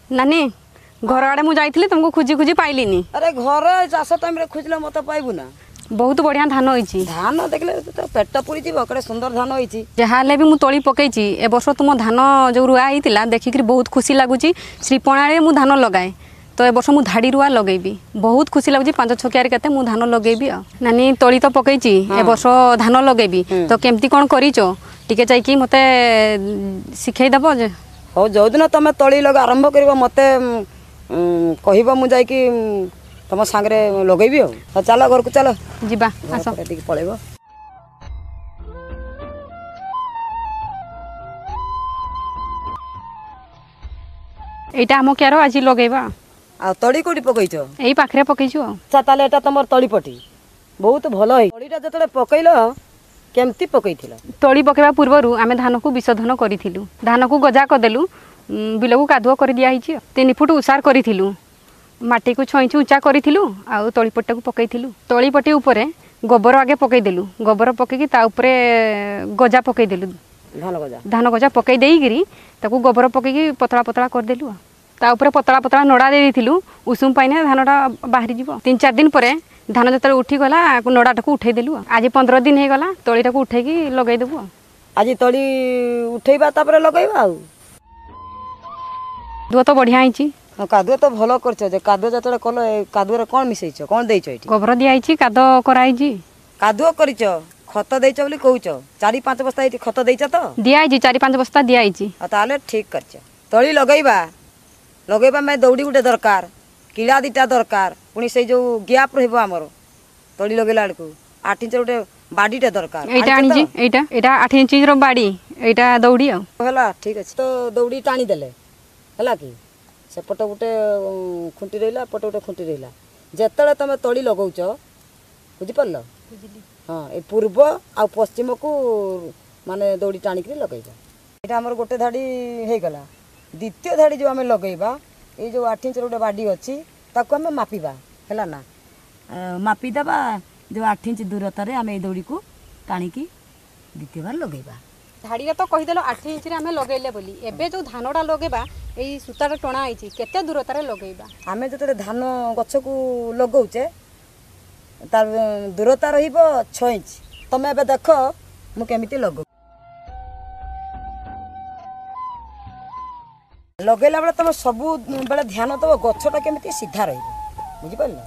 ନାନୀ, ଘର ଆଡ଼େ ମୁଁ ଯାଇଥିଲି, ତୁମକୁ ଖୋଜି ଖୋଜି ପାଇଲିନି। ଆରେ, ଘର ଚାଷ ଟାଇମରେ ଖୋଜିଲେ ମତେ ପାଇବୁ ନା? ବହୁତ ବଢ଼ିଆ ଧାନ ହେଇଛି। ଧାନ ଦେଖିଲେ ତ ପେଟ ପୁରିଯିବ, କେଡ଼େ ସୁନ୍ଦର ଧାନ ହେଇଛି। ଯାହା ହେଲେ ବି ମୁଁ ତଳି ପକେଇଛି। ଏ ବର୍ଷ ତୁମ ଧାନ ଯେଉଁ ରୁଆ ହେଇଥିଲା, ଦେଖିକିରି ବହୁତ ଖୁସି ଲାଗୁଛି। ଶ୍ରୀପଣାରେ ମୁଁ ଧାନ ଲଗାଏ, ତ ଏ ବର୍ଷ ମୁଁ ଧାଡ଼ି ରୁଆ ଲଗେଇବି। ବହୁତ ଖୁସି ଲାଗୁଛି। 5 6 କିଆରି କେତେ ମୁଁ ଧାନ ଲଗେଇବି। ଆଉ ନାନୀ, ତଳି ତ ପକେଇଛି, ଏ ବର୍ଷ ଧାନ ଲଗେଇବି, ତ କେମିତି କ'ଣ କରିଛ ଟିକେ ଯାଇକି ମୋତେ ଶିଖେଇଦେବ ଯେ। ହଉ, ଯେଉଁଦିନ ତମେ ତଳି ଲଗା ଆରମ୍ଭ କରିବ, ମୋତେ କହିବ, ମୁଁ ଯାଇକି ତମ ସାଙ୍ଗରେ ଲଗେଇବି। ଆଉ ହଉ, ଚାଲ, ଘରକୁ ଚାଲ। ଯିବା, ଆସ। ଟିକେ ପଳେଇବ। ଏଇଟା ଆମ କ୍ୟାର, ଆଜି ଲଗେଇବା। ଆଉ ତଳି କୋଉଠି ପକେଇଛ? ଏଇ ପାଖରେ ପକେଇଛୁ। ଆଉ ଆଚ୍ଛା, ତାହେଲେ ଏଇଟା ତମର ତଳି ପଟି, ବହୁତ ଭଲ ହେଇ। ତଳିଟା ଯେତେବେଳେ ପକେଇଲ, କେମିତି ପକେଇଥିଲ? ତଳି ପକେଇବା ପୂର୍ବରୁ ଆମେ ଧାନକୁ ବିଶୋଧନ କରିଥିଲୁ। ଧାନକୁ ଗଜା କରିଦେଲୁ, ବିଲକୁ କାଦୁଅ କରିଦିଆହେଇଛି। 3 ଫୁଟ ଉଷାର କରିଥିଲୁ, ମାଟିକୁ 6 ଇଞ୍ଚ ଉଞ୍ଚା କରିଥିଲୁ ଆଉ ତଳିପଟିଟାକୁ ପକେଇଥିଲୁ। ତଳିପଟି ଉପରେ ଗୋବର ଆଗେ ପକେଇଦେଲୁ। ଗୋବର ପକେଇକି ତା ଉପରେ ଗଜା ପକେଇଦେଲୁ। ଧାନ ଗଜା। ଧାନ ଗଜା ପକେଇ ଦେଇକିରି ତାକୁ ଗୋବର ପକେଇକି ପତଳା ପତଳା କରିଦେଲୁ। ଆଉ ତା ଉପରେ ପତଳା ପତଳା ନଡ଼ା ଦେଇ ଦେଇଥିଲୁ, ଉଷୁମ ପାଇନେ ଧାନଟା ବାହାରିଯିବ। 3 4 ଦିନ ପରେ ଧାନ ଯେତେବେଳେ ଉଠିଗଲା, ନଡ଼ାଟାକୁ ଉଠେଇଦେଲୁ। ଆଉ ଆଜି 15 ଦିନ ହେଇଗଲା, ତଳିଟାକୁ ଉଠେଇକି ଲଗେଇଦେବୁ। ଆଉ ଆଜି ତଳି ଉଠେଇବା, ତାପରେ ଲଗେଇବା। ଆଉ କାଦୁଅ ତ ବଢ଼ିଆ ହେଇଛି। ହଁ, କାଦୁଅ ତ ଭଲ କରିଛ ଯେ। କାଦୁଅ ଯେତେବେଳେ କଲ, ଏ କାଦୁଅରେ କ'ଣ ମିଶେଇଛ, କ'ଣ ଦେଇଛ ଏଇଠି? ଗୋବର ଦିଆହେଇଛି, କାଦ କରାହେଇଛି। କାଦୁଅ କରିଛ, ଖତ ଦେଇଛ ବୋଲି କହୁଛ, 4 5 ବସ୍ତା ଏଇଠି ଖତ ଦେଇଛ ତ? ଦିଆହେଇଛି, 4 5 ବସ୍ତା ଦିଆହେଇଛି। ଆଉ ତାହେଲେ ଠିକ୍ କରିଛ। ତଳି ଲଗେଇବା, ଲଗେଇବା ପାଇଁ ଦଉଡ଼ି ଗୋଟେ ଦରକାର, କିଳା 2ଟା ଦରକାର, ପୁଣି ସେଇ ଯେଉଁ ଗ୍ୟାପ୍ ରହିବ ଆମର ତଳି ଲଗେଇଲା ବେଳକୁ 8 ଇଞ୍ଚ ଗୋଟେ ବାଡ଼ିଟା ଦରକାର। ଏଇଟା ଆଣିଛି, ଏଇଟା 8 ଇଞ୍ଚର ବାଡ଼ି, ଏଇଟା ଦଉଡ଼ି। ଆଉ ହେଲା, ଠିକ୍ ଅଛି। ତ ଦଉଡ଼ି ଟାଣିଦେଲେ ହେଲା କି, ସେପଟ ଗୋଟେ ଖୁଣ୍ଟି ରହିଲା, ଏପଟେ ଗୋଟେ ଖୁଣ୍ଟି ରହିଲା। ଯେତେବେଳେ ତମେ ତଳି ଲଗଉଛ, ବୁଝିପାରିଲ? ହଁ, ଏ ପୂର୍ବ ଆଉ ପଶ୍ଚିମକୁ ମାନେ ଦଉଡ଼ି ଟାଣିକିରି ଲଗେଇବ। ଏଇଟା ଆମର ଗୋଟେ ଧାଡ଼ି ହେଇଗଲା। ଦ୍ୱିତୀୟ ଧାଡ଼ି ଯେଉଁ ଆମେ ଲଗେଇବା, ଏଇ ଯେଉଁ 8 ଇଞ୍ଚର ଗୋଟେ ବାଡ଼ି ଅଛି, ତାକୁ ଆମେ ମାପିବା, ହେଲା ନା? ମାପିଦେବା, ଯେଉଁ 8 ଇଞ୍ଚ ଦୂରତାରେ ଆମେ ଏଇ ଦଉଡ଼ିକୁ ଟାଣିକି ଦ୍ୱିତୀୟ ବାର ଲଗେଇବା। ଧାଡ଼ିଟା ତ କହିଦେଲ 8 ଇଞ୍ଚରେ ଆମେ ଲଗେଇଲେ ବୋଲି। ଏବେ ଯେଉଁ ଧାନଟା ଲଗେଇବା, ଏଇ ସୂତାଟା ଟଣା ହେଇଛି, କେତେ ଦୂରତାରେ ଲଗେଇବା? ଆମେ ଯେତେବେଳେ ଧାନ ଗଛକୁ ଲଗଉଛେ, ତାର ଦୂରତା ରହିବ 6 ଇଞ୍ଚ। ତମେ ଏବେ ଦେଖ ମୁଁ କେମିତି ଲଗଉ। ଲଗେଇଲା ବେଳେ ତମେ ସବୁବେଳେ ଧ୍ୟାନ ଦେବ ଗଛଟା କେମିତି ସିଧା ରହିବ, ବୁଝିପାରିଲ?